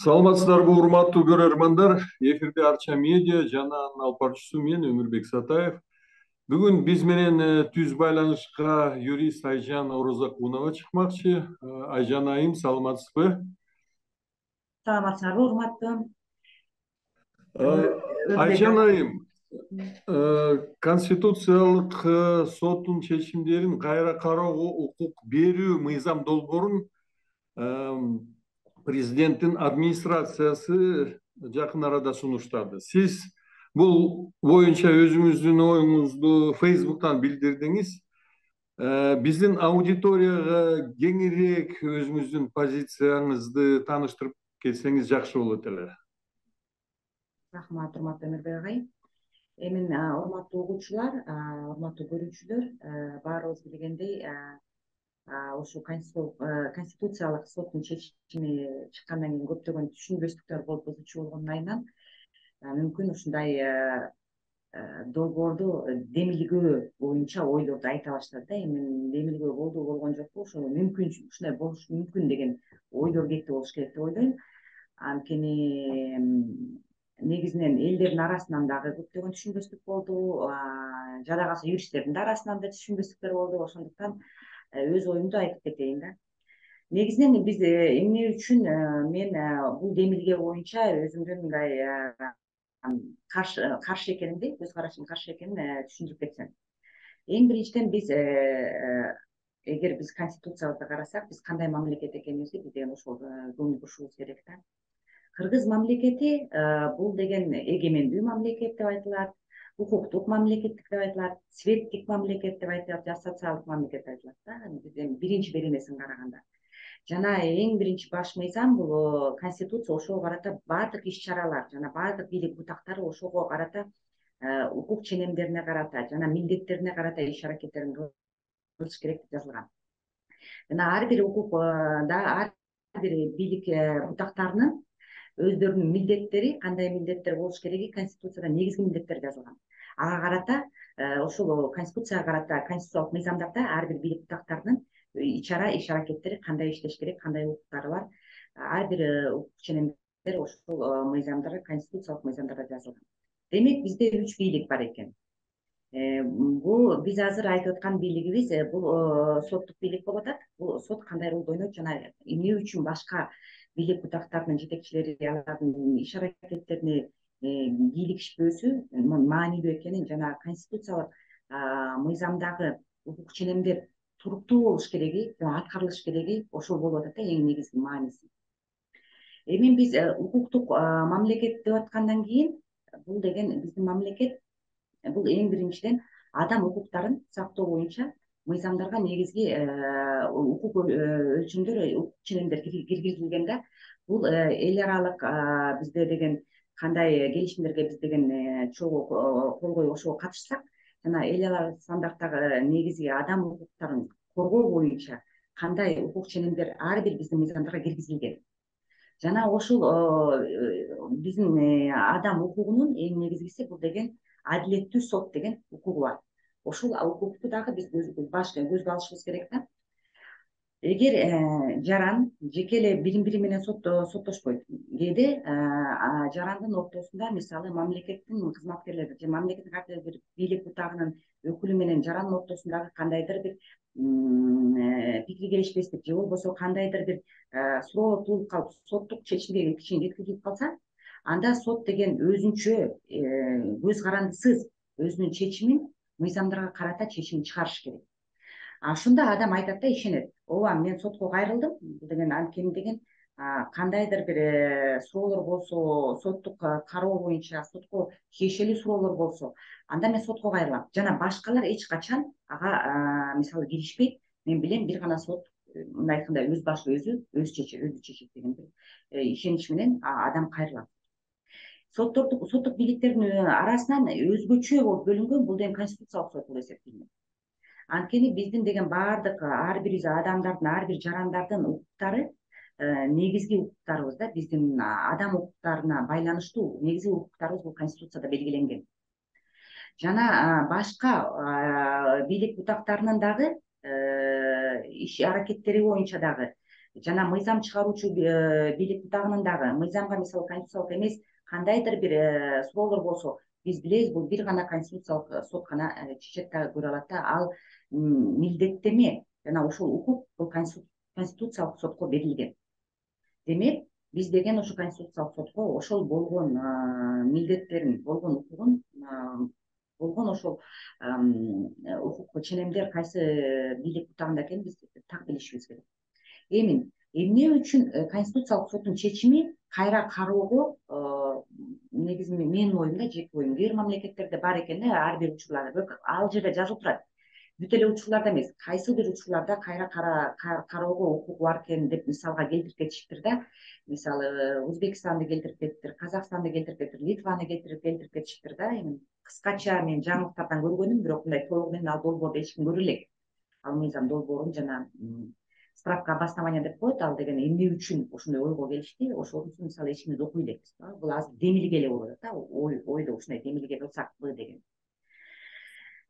Саламатсыздарбы, урматтуу көрөрмандар. Эфирде Арча медиа жана анын алып баруучусу мен Өмүрбек Сатаев. Бүгүн биз менен түз байланышка юрист Айжан Орозакунова чыкмакчы. Айжан айым, саламатсызбы? Саламатсыздарбы, урматтуу Айжан Өзбек. айым, Конституциялык соттун чечимдерин кайра кароого укук берүү мыйзам долбоорун президенттин администрациясы жакын арада сунуштады. Сиз бул боюнча өзүңүздүн оюңузду Facebook'tan билдирдиңиз. Биздин аудиторияга кеңирээк өзүңүздүн позицияңызды тааныштырып кетсеңиз жакшы болот эле. Рахмат, урматтуу Өмүрбек агай. Эми урматтуу угуучулар, урматтуу көрүүчүлөр, баарыбыз билгендей, ушу конституциялык соттун чечими чыккандан кийин көптөгөн түшүнбөстүктөр болуп бузуучу болгондун айынан мүмкүн ушундай долбоорду демилгөө боюнча ойлорду айта баштады да. Эми демилгөө болду болгон жокпу, ошо мүмкүн ушундай болушу мүмкүн деген ойлор кетти болуш керек деп ойлойм. Анткени негизинен элдердин арасынан дагы көптөгөн түшүнбөстүк болду, жада калса юристтердин арасынан да түшүнбөстүктөр болду. Ошондуктан өз оюмду айтып кетейин да. Негизинен биз эмне үчүн мен бул демилге боюнча өзүмдүн мындай каршы экенимди, көз карашым каршы экенин түшүндүрүп кетсем. Эң биринчиден биз эгер биз конституциябызды карасак, биз кандай мамлекет экенибизди биз деген ошол көңүл бурушубуз керек да. Кыргыз мамлекети бул деген эгемендүү мамлекет деп айтылат, укуктук мамлекет деп айтылат, светтик мамлекет деп айтылат, же социалдык мамлекет деп айтылат да. Бизден биринчи беренесин караганда. Жана эң биринчи баш мыйзам бул конституция ошого карата баардык иш чаралар жана баардык бийлик бутактары ошого карата укук ченемдерине карата жана милдеттерине карата иш аракеттерин кылыш керек деп жазылган. Жана ар бир укукда ар бир бийлик бутактарынын өздөрүнүн милдеттери, кандай милдеттер болуш кереги конституцияда негизги милдеттер жазылган. Ага карата ошол конституцияга карата конституциялык мыйзамдарда ар бир бийлик бутактарынын иш аракеттери кандай иштеш керек, кандай укуктары бар, ар бир укук ченемдер ошол мыйзамдар, конституциялык мыйзамдарда жазылган. Демек бизде 3 бийлик бар экен. Бул биз азыр айтып аткан бийлигибиз бул соттук бийлик болуп атат. Бул сот кандай ролду ойнойт жана эмне үчүн башка бийлик бутактарынын жетекчилери алардын иш аракеттерине кийлигишпөөсү маанилүү экенин жана конституциялык мыйзамдагы укук ченемдер туруктуу болуш кереги жана аткарылыш кереги ошол болуп атат да, эң негизги мааниси. Эми биз укуктук мамлекет деп аткандан кийин бул деген биздин мамлекет бул эң биринчиден адам укуктарын сактоо боюнча мыйзамдарга негизги укук өлчөмдөр, укук ченемдер киргизилген да. Бул эл аралык бизде деген кандай келишимдерге биз деген чогуу кол коюп ошого катышсак жана эл аралык стандарттагы негизги адам укуктарын коргоо боюнча кандай укук ченемдер ар бир биздин мыйзамдарга киргизилген. Жана ошол биздин адам укугунун эң негизгиси бул деген адилеттүү сот деген укугу бар. Ошол укукту дагы биз көзгө алышыбыз керек да. Эгер жаран жеке эле бири менен соттошпойт, кээде жарандын ортосунда мисалы мамлекеттин кызматкерлери же мамлекеттин кандайдыр бир бийлик бутагынын өкүлү менен жарандын ортосундагы кандайдыр бир пикир келишпестик же болбосо кандайдыр бир суроолор туулуп калып соттук чечимге жеткизилип калса, анда сот деген өзүнчө көз карандысыз өзүнүн чечимин мыйзамдарга карата чечим чыгарыш керек. Ошондо адам айтат да, ишенет. Ооба, мен сотко кайрылдым. Бул деген анткени деген кандайдыр бир суроолор болсо, соттук кароо боюнча сотко тиешелүү суроолор болсо, анда мен сотко кайрылам. Жана башкалар эч качан ага мисалы киришпейт. Мен билем бир гана сот мындай айтканда өз башы өзү чечет деген бир ишенич менен адам кайрылат. Соттук бийликтердин арасынан өзгөчө болуп бөлүнгөн бул деген конституциялык сот болуп эсептелинет. Анткени биздин деген баардык ар бир адамдардын, ар бир жарандардын укуктары негизги укуктарыбыз да, биздин адам укуктарына байланыштуу негизги укуктарыбыз бул конституцияда белгиленген. Жана башка бийлик бутактарынын дагы иш аракеттери боюнча дагы жана мыйзам чыгаруучу бийлик бутагынын дагы мыйзамга мисалы конституциялык эмес кандайдыр бир суроолор болсо, биз билебиз, бул бир гана конституциялык сот гана чечет дагы көрө алат да. Ал милдеттеме жана ошол укук бул конституциялык сотко берилген. Демек, биз деген ошо конституциялык сотко ошол болгон милдеттерин, болгон укугун, болгон ошол укук ченемдер кайсы бийлик бутагында экенин биз так билишибиз керек. Эми эмне үчүн конституциялык соттун чечими кайра кароого негизи менин оюмда, жеке оюм, кээ бир мамлекеттерде бар экен да, ар бир учурларда, бирок ал жерде жазылып турат. Бүт эле учурларда эмес, кайсы бир учурларда кайра кароого укугу бар экен деп мисалга келтирип кетишиптир да. Мисалы, Өзбекстанды келтирип кетиптир, Казакстанды келтирип кетиптир, Литваны келтирип кетишиптир да. Эми кыскача мен жаңылыктардан көргөнүм, бирок мындай толугу менен ал долбоорду эч ким көрө элек. Ал мыйзам долбоорун жана справка обоснования деп коет, ал деген эмне үчүн ошондой ойго келишти, ошонусу мисалы эч кимди окуй элекпиз. Бул азыр демилге эле болуп атат да, ойдо ушундай демилге кылсакпы деген.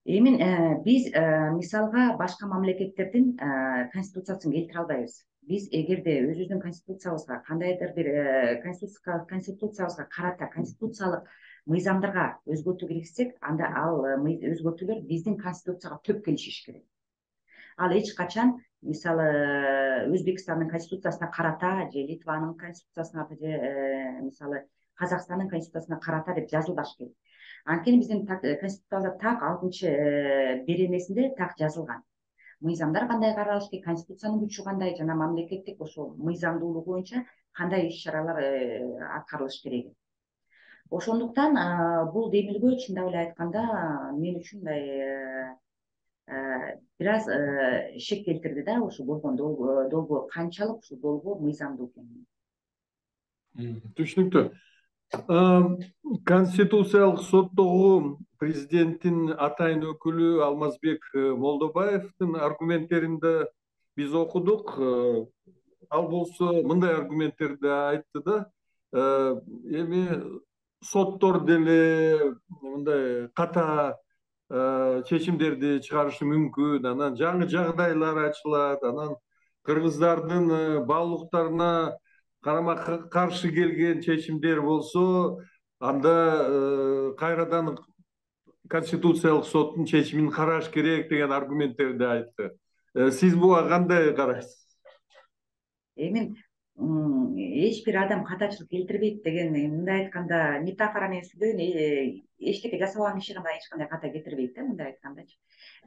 Эми биз мисалга башка мамлекеттердин конституциясын келтире албайбыз. Биз эгерде өзүбүздүн конституциябызга кандайдыр бир конституциябызга карата конституциялык мыйзамдарга өзгөртүү киргизсек, анда ал өзгөртүүлөр биздин конституцияга төп келишиш керек. Ал эч качан мисалы Өзбекстандын конституциясына карата же Литванын конституциясына же мисалы Казакстандын конституциясына карата деп жазылбаш керек. Анткени биздин конституциябызда так 6-беренесинде так жазылган. Мыйзамдар кандай каралыш керек, конституциянын күчү кандай жана мамлекеттик ошол мыйзамдуулугу боюнча кандай иш-чаралар аткарылыш керек. Ошондуктан бул демилгөө чындап эле айтканда мен үчүн мындай бир аз шек келтирди да, ушу болгон долбоор канчалык ушул долбоор мыйзамдуу экенин. Түшүнүктүү. Конституциялык соттогу президенттин атайын өкүлү Алмазбек Молдобаевдин аргументтеринде биз окудук. Ал болсо мындай аргументтерди айтты да, эми соттор деле мындай ката чечимдерди чыгарышы мүмкүн, анан жаңы жагдайлар ачылат, анан кыргыздардын баалуулуктарына карама каршы келген чечимдер болсо, анда кайрадан конституциялык соттун чечимин караш керек деген аргументтерди айтты. Сиз буга кандай карайсыз? Эми эч бир адам катачылык келтирбейт деген, мындай айтканда метафора менен сүйлөйүн, эчтеке жасабаган киши гана эч кандай ката келтирбейт да, мындай айткандачы.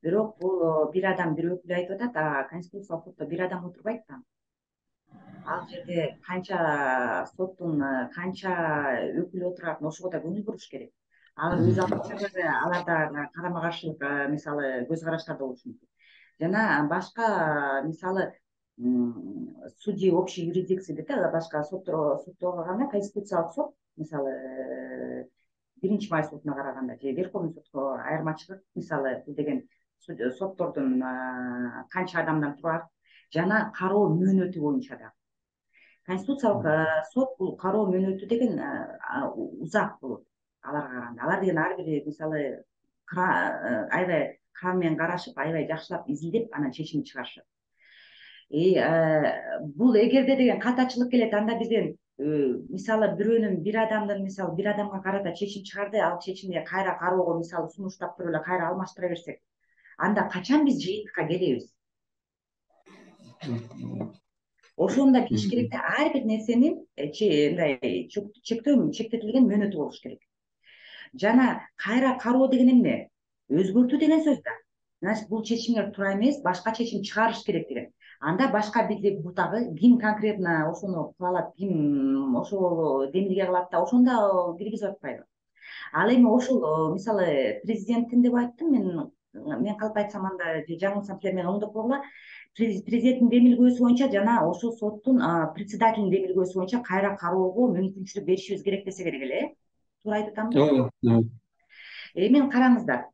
Бирок бул бир адам, бир өкүл айтып атат, конституциялык сотто бир адам отурбайт да. Ал жерде канча соттун канча өкүлү отурат, ошого да көңүл буруш керек. Ал өз алдынча аларда карама каршылык мисалы көз караштар да болушу мүмкүн. Жана башка мисалы судьи общей юрисдикции дейт да, башка сотторго караганда конституциялык сот мисалы биринчи май сотуна караганда же Верховный сотко айырмачылык, мисалы бул деген соттордун канча адамдан турат жана кароо мөөнөтү боюнча да. Конституциялык сот бул кароо мөөнөтү деген узак болот аларга караганда. Алар деген ар бир мисалы аябай кран менен карашып, аябай жакшылап изилдеп анан чечим чыгарышат. Бул эгерде деген катачылык келет, анда бизден мисалы бир адамдын мисалы бир адамга карата чечим чыгарды, ал чечимди кайра кароого мисалы сунуштап туруп эле кайра алмаштыра берсек, анда качан биз жыйынтыкка келебиз? Ошондо келиш керек да, ар бир нерсенин мындай чектетилген мөөнөтү болуш керек. Жана кайра кароо деген эмне? Өзгөртүү деген сөз да. Значит, бул чечимдер туура эмес, башка чечим чыгарыш керек деген. Анда башка бийлик бутагы ким конкретно ошону кыла алат, ким ошол демилге кылат да, ошондо киргизип атпайбы? Ал эми ошол мисалы президенттин деп айттым мен калп айтсам анда же жаңылсам силер мени оңдоп койгула. Президенттин демилгөөсү боюнча жана ошол соттун председателинин демилгөөсү боюнча кайра кароого мүмкүнчүлүк беришибиз керек десе керек эле, туура айтып атамбы? Эми караңыздар,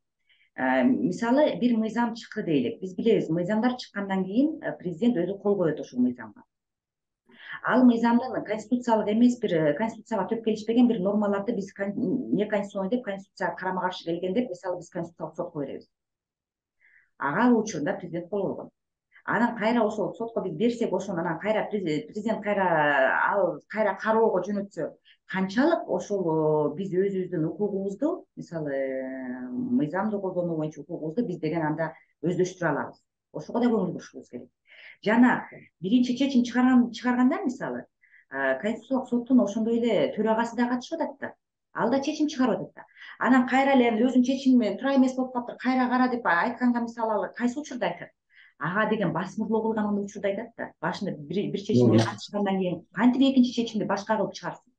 мисалы бир мыйзам чыкты дейлик. Биз билебиз, мыйзамдар чыккандан кийин президент өзү кол коет ошол мыйзамга. Ал мыйзамдын конституциялык эмес, бир конституцияга төп келишпеген бир нормаларды биз неконституционный деп, конституцияга карама каршы келген деп, мисалы биз конституциялык сотко беребиз. Ага ал учурда президент кол койгон. анан кайра ошол сотко биз берсек, ошону анан кайра президент кайра кароого жөнөтсө, канчалык ошол биз өзүбүздүн укугубузду, мисалы мыйзамды колдонуу боюнча укугубузду биз деген анда өздөштүрө алабыз. Ошого да көңүл бурушубуз керек. Жана биринчи чечим чыгарганда, мисалы Конституциялык соттун ошондой эле төрагасы да катышып атат да, ал да чечим чыгарып атат да. Анан кайра эле өзүнүн чечими туура эмес болуп калыптыр, кайра кара деп айтканга, мисалы ал кайсы учурда айтат? Ага деген басмырлоо кылган учурда айтат да. Башында бир чечимге катышкандан кийин кантип экинчи чечимди башка кылып чыгарсын?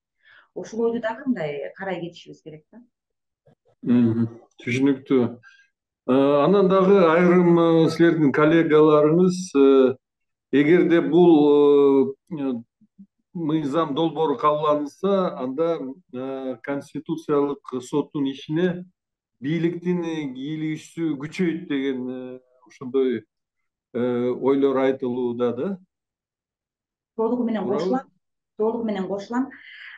Ушул ойду дагы мындай карай кетишибиз керек да. Түшүнүктүү. Анан дагы айрым силердин коллегаларыңыз, эгерде бул мыйзам долбоору кабыл алынса, анда Конституциялык соттун ишине бийликтин кийлигишүүсү күчөйт деген ошондой ойлор айтылууда да. Толугу менен кошулам.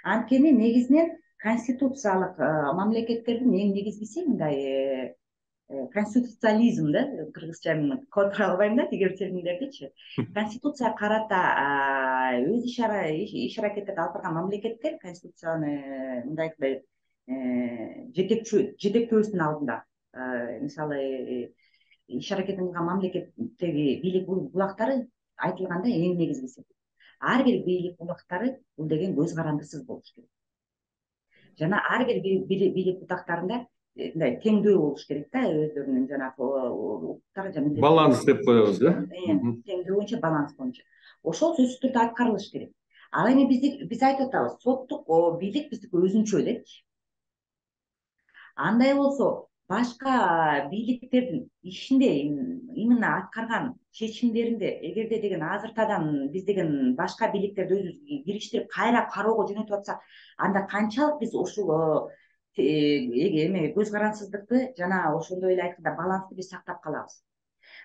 Анткени негизинен конституциялык мамлекеттердин эң негизгиси мындай конституциализм да, кыргызча которо албайм да тигер терминдердичи. Конституция карата өз иш аракеттерди алып барган мамлекеттер конституцияны мындай айтпай жетектөөбүздүн алдында, мисалы иш аракетин кылган мамлекеттеги бийлик булактары айтылганда эң негизгиси. Ар бир бийлик булактары бул деген көз карандысыз болуш керек. Жана ар бир бийлик булактарында мындай теңдөө болуш керек да, өздөрүнүн жанагы укуктары жана баланс деп коебуз да. Теңдөө боюнча, баланс боюнча. Ошол сөзсүз түрдө аткарылыш керек. Ал эми биз айтып атабыз, соттук бийлик биздики өзүнчө депчи. Андай болсо, башка бийликтердин ишинде именно аткарган чечимдеринде эгерде деген азыртадан биз деген башка бийликтерди өзүбүз кириштирип кайра кароого жөнөтүп атсак, анда канчалык биз ушул эме көз карансыздыкты жана ошондой эле айтканда балансты биз сактап калабыз.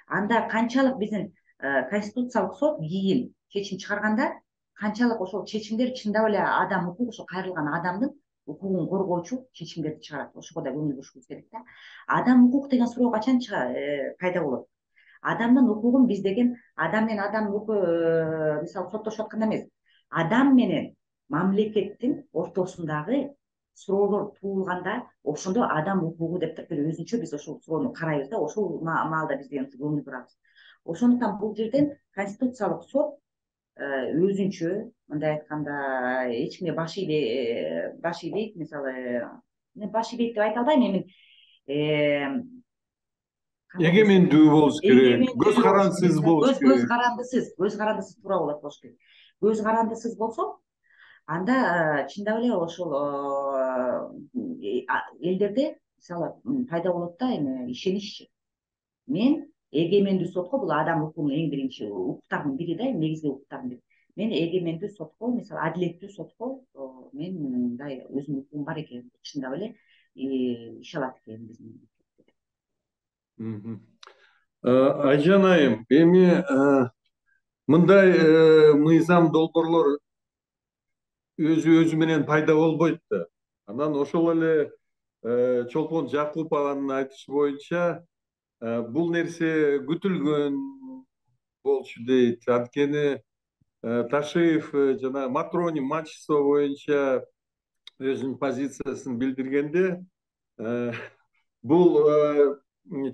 Анда канчалык биздин Конституциялык сот кийин чечим чыгарганда, канчалык ошол чечимдер чындап эле адам укугу, ошо кайрылган адамдын укугун коргоочу чечимдерди чыгарат. Ошого да көңүл бурушубуз керек да. Адам укук деген суроо качан пайда болот? Адамдын укугун биз деген адам менен адам мисалы соттошуп атканда эмес, адам менен мамлекеттин ортосундагы суроолор туулганда, ошондо адам укугу деп бир өзүнчө биз ошол суроону карайбыз да, ошол маалда биз деген көңүл бурабыз. Ошондуктан бул жерден Конституциялык сот өзүнчө, мындай айтканда, эч кимге баш ийбейт, мисалы, баш ийбейт деп айта албайм эми, эгемендүү болуш керек, көз карандысыз болуш керек. Көз карандысыз туура болуш керек. Көз карандысыз болсо, анда чындап эле ошол элдерде мисалы пайда болот да эме ишенич. Мен эгемендүү сотко, бул адам укугунун эң биринчи укуктардын бири да, негизги укуктардын бири. Мен эгемендүү сотко, мисалы адилеттүү сотко мен мындай өзүмдүн укугум бар экен, чындап эле иши алат экен биздин. Айжан айым, эми мындай мыйзам долбоорлор өзү менен пайда болбойт да. Анан ошол эле Чолпон Жакупованын айтышы боюнча бул нерсе күтүлгөн болчу дейт. Анткени Ташиев жана Матрони Мачество боюнча өзүнүн позициясын билдиргенде, бул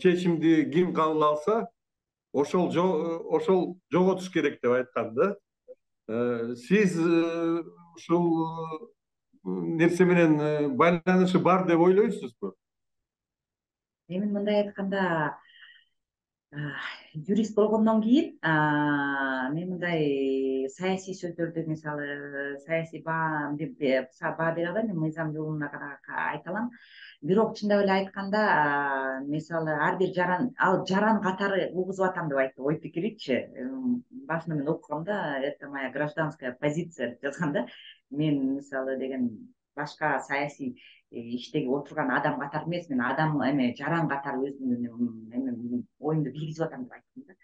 чечимди ким кабыл алса, ошол жоготуш керек деп айткан да. Сиз ушул нерсе менен байланышы бар деп ойлойсузбу? Эми мындай айтканда, юрист болгондон кийин мен мындай саясий сөздөрдү, мисалы саясий баа бере албайм, мен мыйзам жолуна айта алам. Бирок чындап эле айтканда, мисалы ар бир жаран катары угузуп атам деп айтты ой пикиричи. Башында мен окугамда, это моя гражданская позиция деп жазган да. Мен мисалы деген башка саясий иштеги отурган адам катары эмес, мен адам эме жаран катары өзүмдүн оюмду билгизип атам деп айттым да.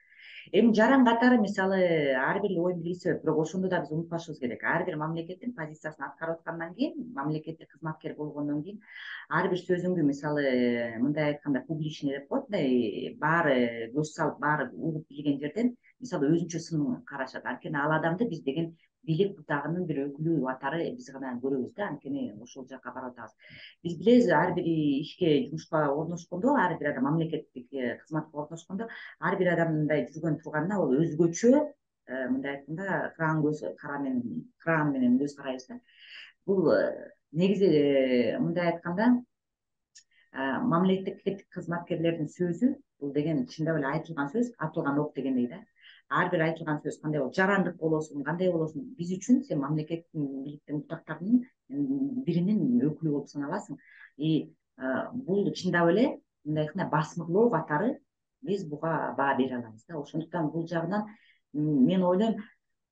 Эми жаран катары мисалы ар бир оюн билгизет, бирок ошондо да биз унутпашыбыз керек. Ар бир мамлекеттин позициясын аткарып аткандан кийин, мамлекеттик кызматкер болгондон кийин, ар бир сөзүңдү мисалы мындай айтканда публичный деп коет, мындай баары көз салып, баары угуп билген жерден мисалы өзүнчө сын карашат. Анткени ал адамды биз деген бийлик бутагынын бир өкүлү катары биз гана көрөбүз да, анткени ошол жака барып атабыз. Биз билебиз, ар бир ишке, жумушка орношкондо, ар бир адам мамлекеттик кызматка орношкондо, ар бир адамдын мындай жүргөн турганына ал өзгөчө, мындай айтканда, кран менен көз карайбыз да. Бул негизи мындай айтканда мамлекеттик кызматкерлердин сөзү бул деген чындап эле айтылган сөз, атылган ок дегендей да. Ар бир айтылган сөз кандай болот, жарандык болосун, кандай болосун, биз үчүн сен мамлекеттин бийликтин бутактарынын биринин өкүлү болуп саналасың. И бул чындап эле мындай айтканда басмырлоо катары биз буга баа бере алабыз да. Ошондуктан бул жагынан мен ойлойм,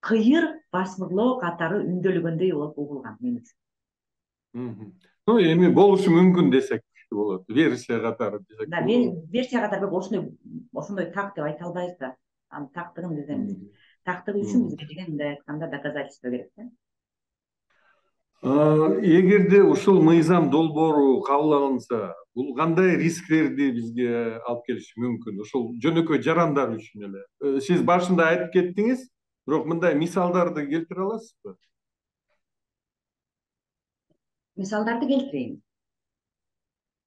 кыйыр басмырлоо катары үндөлгөндөй болуп угулган мен үчүн. Ну эми болушу мүмкүн десек болот, версия катары десек Да, болот. версия катары ошондой так деп айта албайбыз да. Анын тактыгын биз эми тактыгы үчүн бизге деген мындай айтканда доказательство керек да. Эгерде ушул мыйзам долбоору кабыл алынса, бул кандай рисктерди бизге алып келиши мүмкүн? Ушул жөнөкөй жарандар үчүн эле. Сиз башында айтып кеттиңиз, бирок мындай мисалдарды келтире аласызбы? Мисалдарды келтирейин.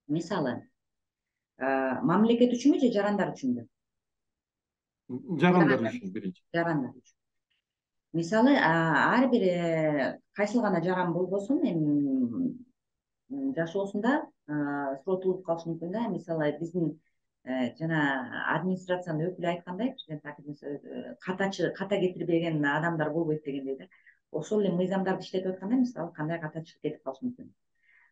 Мисалы, мамлекет үчүнбү же жарандар үчүнбү? Жарандар үчүн биринчи. Жарандар үчүн. Мисалы, ар бир кайсыл гана жаран болбосун, эми жашоосунда суротулуп калышы мүмкүн да. Мисалы, биздин жана администрациянын өкүлү айткандай, президент ката кетирбеген адамдар болбойт дегендей да. Ошол эле мыйзамдарды иштетип атканда, мисалы, кандай катачылык кетип калышы мүмкүн.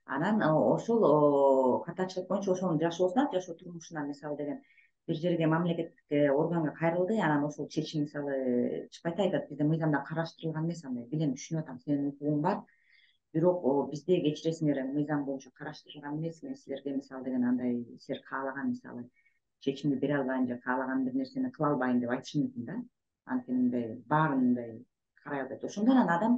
Анан ошол катачылык боюнча ошонун жашоо турмушуна, мисалы деген бир жерге мамлекеттик органга кайрылды, анан ошол чечим мисалы чыкпайт, айтат, бизде мыйзамда караштырылган эмес, андай билем, түшүнүп атам, сенин укугуң бар, бирок бизде кечиресиңер, мыйзам боюнча караштырылган эмес, мен силерге мисалы деген андай силер каалаган мисалы чечимди бере албайм же каалаган бир нерсени кыла албайм деп айтышы мүмкүн да. Анткени мындай баарын мындай карай албайт. Ошондо анан адам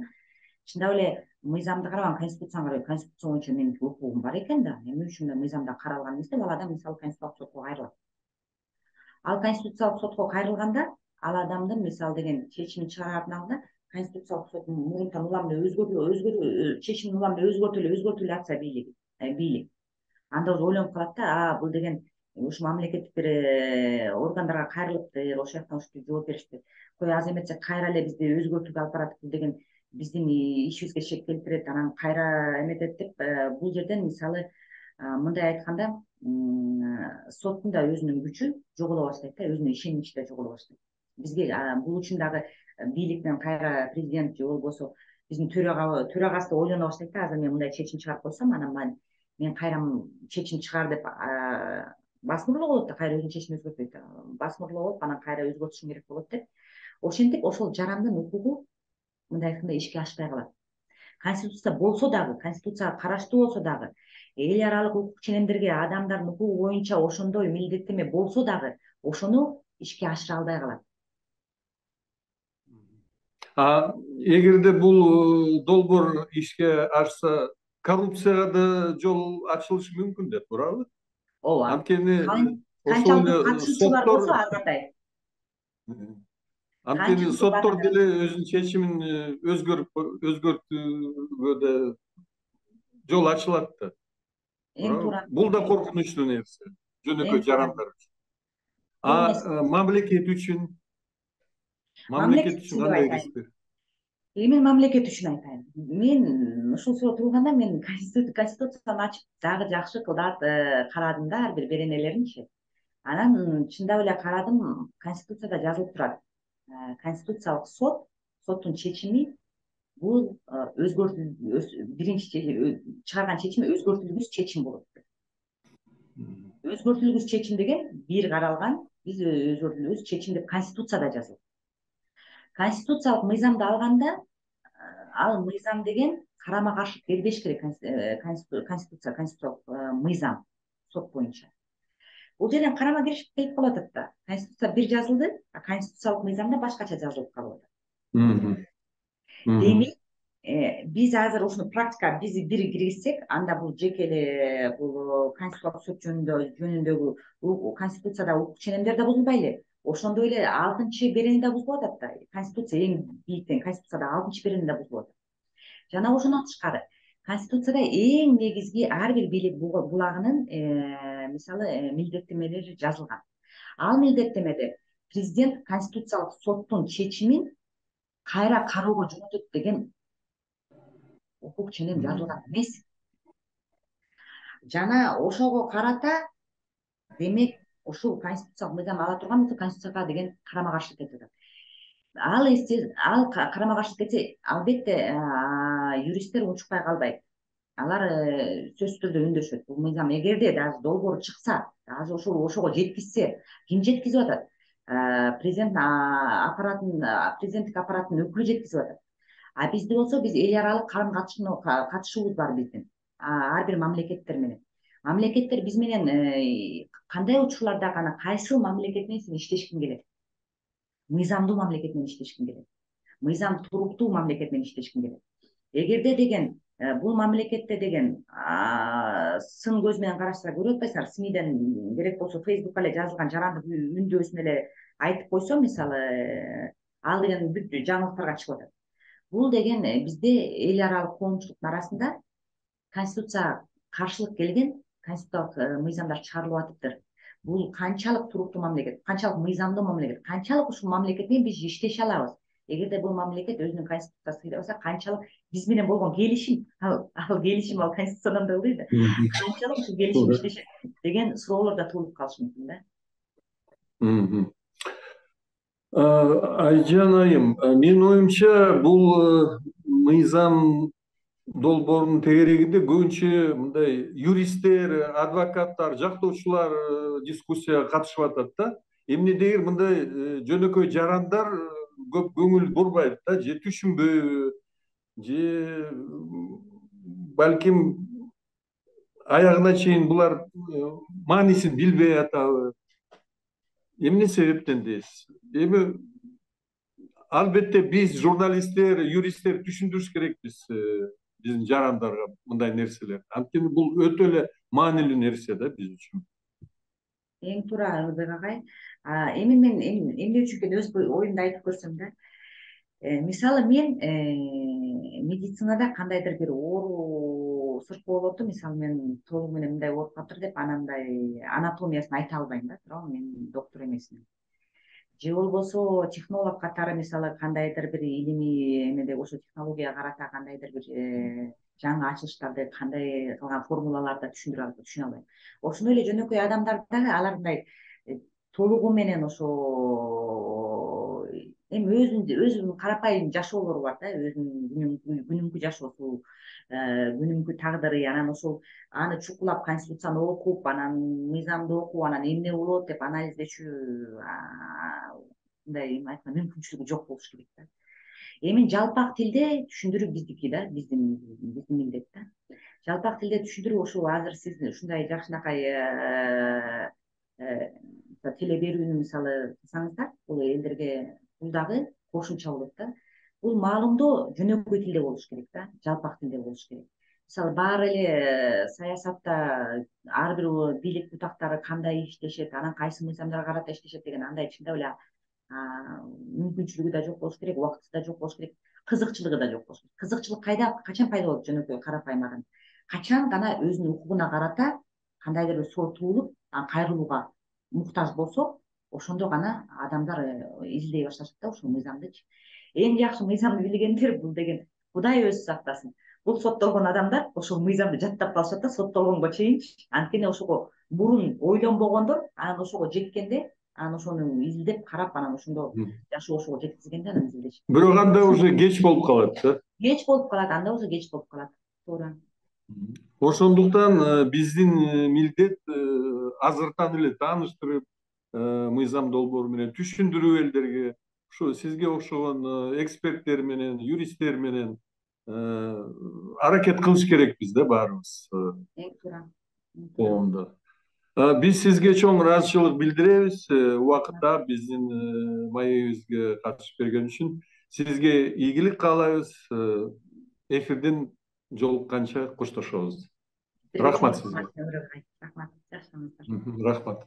чындап эле мыйзамды карабаган, конституцияны карабайт. Конституция боюнча менин укугум бар экен да, эмне үчүн мыйзамда каралган эмес деп ал адам мисалы конституциялык сотко кайрылат. Ал конституциялык сотко кайрылганда, ал адамдын мисалы деген чечимин чыгараардын алдында конституциялык сот мурунтан улам эле чечимин улам эле өзгөртүп эле атса бийлик, анда уже ойлонуп калат да, бул деген ушу мамлекеттик бир органдарга кайрылыптыр, ошол жактан ушинтип жооп беришти. Кой аз эметсе кайра эле бизди өзгөртүүгө алып барат, бул деген биздин ишибизге шек келтирет, анан кайра эметет деп, бул жерден мисалы мындай айтканда соттун да өзүнүн күчү жоголо баштайт да, өзүнүн ишеничи да жоголо баштайт. Бизге бул үчүн дагы бийликтен кайра президент же болбосо биздин төрагасы да ойлоно баштайт да, азыр мен мындай чечим чыгарып койсом, анан мен кайра чечим чыгар деп басмырлоо болот да, кайра өзүнүн чечимин өзгөртпөйт, басмырлоо болуп анан кайра өзгөртүшүм керек болот деп, ошентип ошол жарандын укугу мындай айтканда ишке ашпай калат. Конституция болсо дагы, конституцияга караштуу болсо дагы, эл аралык укук ченемдерге адамдардын укугу боюнча ошондой милдеттенме болсо дагы, ошону ишке ашыра албай калат. Эгерде бул долбоор ишке ашса, коррупцияга да жол ачылышы мүмкүн деп, туурабы? Ооба. Анткени Канчалык катышуучулар болсо ар кандай. Анткени соттор деле өзүнүн чечимин өзгөртүүгө да жол ачылат да. Эң туура. Бул да коркунучтуу нерсе, жөнөкөй жарандар үчүн. Мамлекет үчүн кандай рисктер? Мен мамлекет үчүн айтайын. Мен ушул суроо турганда мен конституцияны ачып дагы жакшы кылдат карадым да, ар бир беренелеринчи. Анан чындап эле карадым, конституцияда жазылып турат. Конституциялык соттун чечими бул биринчи чыгарган чечими өзгөртүлгүс чечим болот. Өзгөртүлгүс чечим деген бир каралган, биз өзгөртүлгүс чечим деп конституцияда жазылат. Конституциялык мыйзамды алганда, ал мыйзам деген карама каршы келбеш керек. Конституциялык мыйзам сот боюнча. Бул жерден карама каршы келип калып атат да. Конституция бир жазылды, а конституциялык мыйзамда башкача жазылып калып атат. Демек, биз азыр ушуну практикага биз бир киргизсек, анда бул жеке эле бул конституциялык сот жөнүндөгү конституцияда укук ченемдер да бузулбай эле, ошондой эле 6-берени да бузулуп атат да. Конституция эң бийиктен Конституцияда 6-берени да бузулуп атат. Жана ошондон тышкары Конституцияда эң негизги ар бир бийлик булагынын мисалы милдеттенмелери жазылган. Ал милдеттенмеде президент Конституциялык соттун чечимин кайра кароого жөнөтөт деген укук ченем жазылган эмес. Жана ошого карата демек ушул конституциялык мыйзам ала турган болсо Конституцияга деген карама каршылык кетип атат. Ал карама каршылык кетсе, албетте юристтер унчукпай калбайт. Алар сөзсүз түрдө үндөшөт. Бул мыйзам эгерде даже долбоор чыкса, даже ошого жеткизсе, ким жеткизип атат? Президент президенттик аппараттын өкүлү жеткизип атат. А бизде болсо биз эл аралык карым катышуубуз бар биздин. Ар бир мамлекеттер менен. Мамлекеттер биз менен кандай учурларда гана кайсы мамлекет менен сен иштешкиң келет? Мыйзамдуу мамлекет менен иштешкиң келет. Мыйзам туруктуу мамлекет менен иштешкиң келет. Эгерде деген бул мамлекетте деген сын көз менен карашса көрүп атпайсыңар, СМИден керек болсо Фейсбукка эле жазылган жарандык үндөсүн эле айтып койсо, мисалы, ал деген бүт жаңылыктарга чыгып атат. Бул деген бизде эл аралык коомчулуктун арасында Конституцияга каршылык келген конституциялык мыйзамдар чыгарылып атыптыр. Бул канчалык туруктуу мамлекет, канчалык мыйзамдуу мамлекет, канчалык ушул мамлекет менен биз иштеше алабыз? Эгерде бул мамлекет өзүнүн конституциясын ыйдабаса, канчалык биз менен болгон келишим, ал келишим ал конституциядан да ылдый да, канчалык ушул келишим иштешет деген суроолор да туулуп калышы мүмкүн да. Айжан айым, менин оюмча бул мыйзам долбоорунун тегерегинде көбүнчө мындай юристтер, адвокаттар, жактоочулар дискуссияга катышып атат да. Эмнедегир мындай жөнөкөй жарандар көп көңүл бурбайт да, же түшүнбөйбү, же балким аягына чейин булар маанисин билбей атабы. Эмне себептен дейсиз? Эми албетте биз журналисттер, юристтер түшүндүрүш керекпиз биздин жарандарга мындай нерселерди. Анткени бул өтө эле маанилүү нерсе да биз үчүн. Эң туура, Ылдый агай. Эми мен эмне үчүн экен өз оюмду айтып көрсөм да. Мисалы мен медицинада кандайдыр бир оору сыркоо болот, мисалы мен толугу менен мындай ооруп калыптыр деп анандай анатомиясын айта албайм да, туурабы, мен доктор эмесмин. Же болбосо технолог катары мисалы кандайдыр бир илимий эмеде ошо технологияга карата кандайдыр бир жаңы ачылыштарды кандай кылган формулаларды түшүнө албайм. Ошондой эле жөнөкөй адамдар дагы алар мындай толугу менен ошо эми өзүнүн карапайым жашоолору бар да, өзүнүн күнүмкү жашоосу, күнүмкү тагдыры, анан ошол аны чукулап конституцияны окуп, анан мыйзамды окуп, анан эмне болот деп анализдечү мындай эме айтканда мүмкүнчүлүгү жок болуш керек да. Эми жалпак тилде түшүндүрүү биздики да, биздин милдет да. Жалпак тилде түшүндүрүү ушул азыр сиз ушундай жакшынакай теле берүүнү мисалы кылсаңыздар, бул элдерге бул дагы кошумча болот да. Бул маалымдоо жөнөкөй тилде болуш керек да, жалпак тилде болуш керек. Мисалы баары эле саясатта ар бир бийлик бутактары кандай иштешет, анан кайсы мыйзамдарга карата иштешет деген андай чындап эле мүмкүнчүлүгү да жок болуш керек, убакыты да жок болуш керек, кызыкчылыгы да жок болуш керек. Кызыкчылык качан пайда болот жөнөкөй карапайым адам? Качан гана өзүнүн укугуна карата кандайдыр бир суроо туулуп, анан кайрылууга муктаж болсо, ошондо гана адамдар изилдей башташат да ушул мыйзамдычы. Эң жакшы мыйзамды билгендер бул деген Кудай өзү сактасын. Бул соттолгон адамдар ошол мыйзамды жаттап калышат да соттолгонго чейинчи. Анткени ошого мурун ойлонбогондор, анан ошого жеткенде анан ошону изилдеп карап, анан ошондо жашоо ошого жеткизгенде анан изилдешет. Бирок анда уже кеч болуп калат да. Кеч болуп калат, анда уже кеч болуп калат. Туура. Ошондуктан биздин милдет азыртан эле тааныштырып, мыйзам долбоору менен түшүндүрүп элдерге, ушу сизге окшогон эксперттер менен, юристтер менен аракет кылыш керекпиз да баарыбыз Эң туура. коомдо. Биз сизге чоң ыраазычылык билдиребиз убакытта биздин маегибизге катышып берген үчүн. Сизге ийгилик каалайбыз. Эфирден жолукканча коштошобуз. Рахмат сизге. Рахмат. Жакшы. Рахмат.